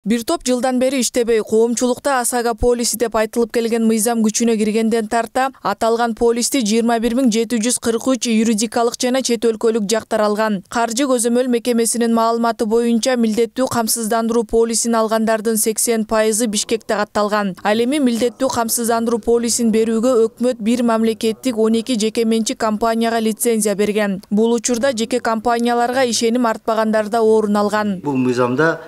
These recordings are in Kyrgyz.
Бир топ жылдан бери иштебей, коомчулукта Асага полиси деп айтылып келген мыйзам күчүнө киргенден тарта аталган полисти 21743 юридикалык жана чет өлкөлүк жактар алган. Каржы көзөмөл мекемесинин маалыматы боюнча милдеттүү камсыздандыруу полисин алгандардын 80% Бишкекте катталган. Ал эми милдеттүү камсыздандыруу полисин берүүгө өкмөт бир мамлекеттик 12 жеке менчик компанияга лицензия берген. Бул учурда жеке компанияларга ишеним артпагандар да орун алган. Бул мыйзамда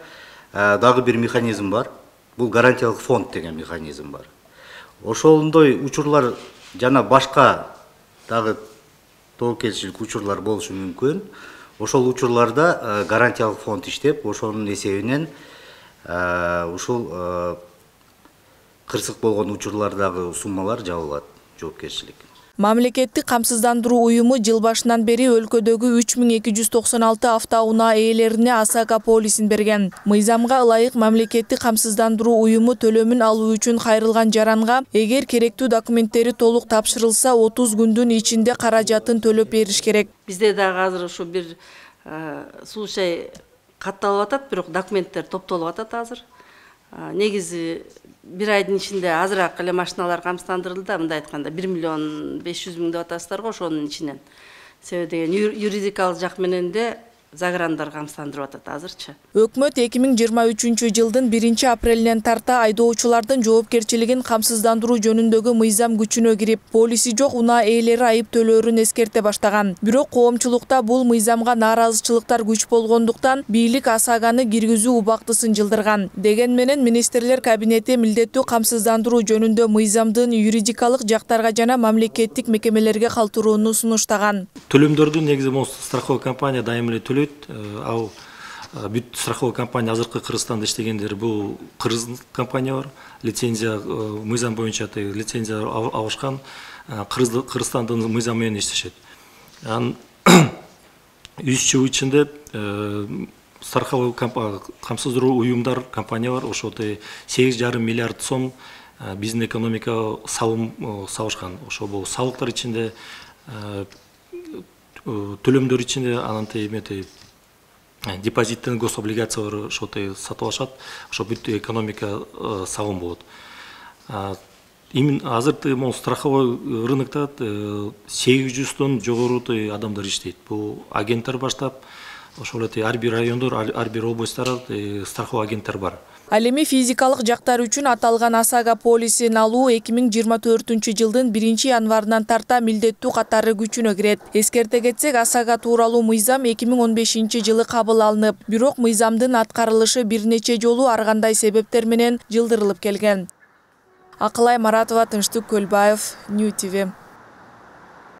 дагы бир механизм бар. Бул гарантиялык фонд деген механизм бар. Ошондой учурлар жана башка дагы тобокелчилик учурлар болушу мүмкүн. Ошол учурларда гарантиялык фонд иштеп, ошонун эсебинен ушул кырсык болгон учурлардагы суммалар жабылат, жоопкерчилик. Мамлекеттик камсыздандыруу уюму жыл башынан бери өлкөдөгү 3296 автоунаа ээлерине Асага полисин берген. Мыйзамга ылайык мамлекеттик камсыздандыруу уюму төлөмүн алуу үчүн кайрылган жаранга эгер керектүү документтери толук тапшырылса 30 күндүн ичинде каражатын төлөп бериш керек. Бизде дагы азыр ушу бир случай катталып атат, бирок документтер топтолуп атат азыр. Негизи бир айдын ичинде азыраак эле машиналар камсыздандырылды да, мындай айтканда 1 500 000 деп атасыздар го, ошонун ичинен. Себеби деген юридикалык жак менен де заграндар камсыздандырып атат азырчы. Өкмөт 2023 жылдын 1-апрелинен тарта айдоочулардын жоопкерчилигин камсыздандыруу жөнүндөгү мыйзам күчүнө кирип, полиси жок унаа ээлери айып төлөөрүн эскерте баштаган. Бирок коомчулукта бул мыйзамга нааразычылыктар күч болгондуктан бийлик Асаганы киргизүү убактысын жылдырган. Деген менен министрлер кабинети милдеттүү камсыздандыруу жөнүндө мыйзамдын юридикалык жактарга жана мамлекеттик мекемелерге калтырууну сунуштаган. Төлөмдөрдү негизи страховой компания дайым эле төлөйт. Ал бүт страховой компания азыркы Кыргызстанда иштегендер бул кыргыз компания бар. Лицензия мыйзам боюнча лицензия алышкан. Кыргызстандын мыйзамы менен иштешет. Анын 3 жыл ичинде страховой камсыздандыруу уюмдар компания бар. Ошол 8,5 миллиард сом биздин экономикага салым салышкан. Ошол бул салыктар ичинде төлөмдөр ичинде анан депозиттен гособлигациялар ошол сатып алышат. Ошо бүт экономика салым болот. Азыр могу страховой рынокто 800дөн жогору адамдар иштейт. Бул агенттер баштап, ошол ар бир райондор, ар бир областтарда страховой агенттер бар. Ал эми физикалык жактар үчүн аталган Асага полисин алуу 2024 жылдын 1-январынан тарта милдеттүү катары күчүнө кирет. Эскерте кетсек, Асага тууралуу мыйзам 2015 жылы кабыл алынып, бирок мыйзамдын аткарылышы бир нече жолу ар кандай себептер менен жылдырылып келген. Акылай Маратова, Тынчтык Көлбаев, Нью ТВ.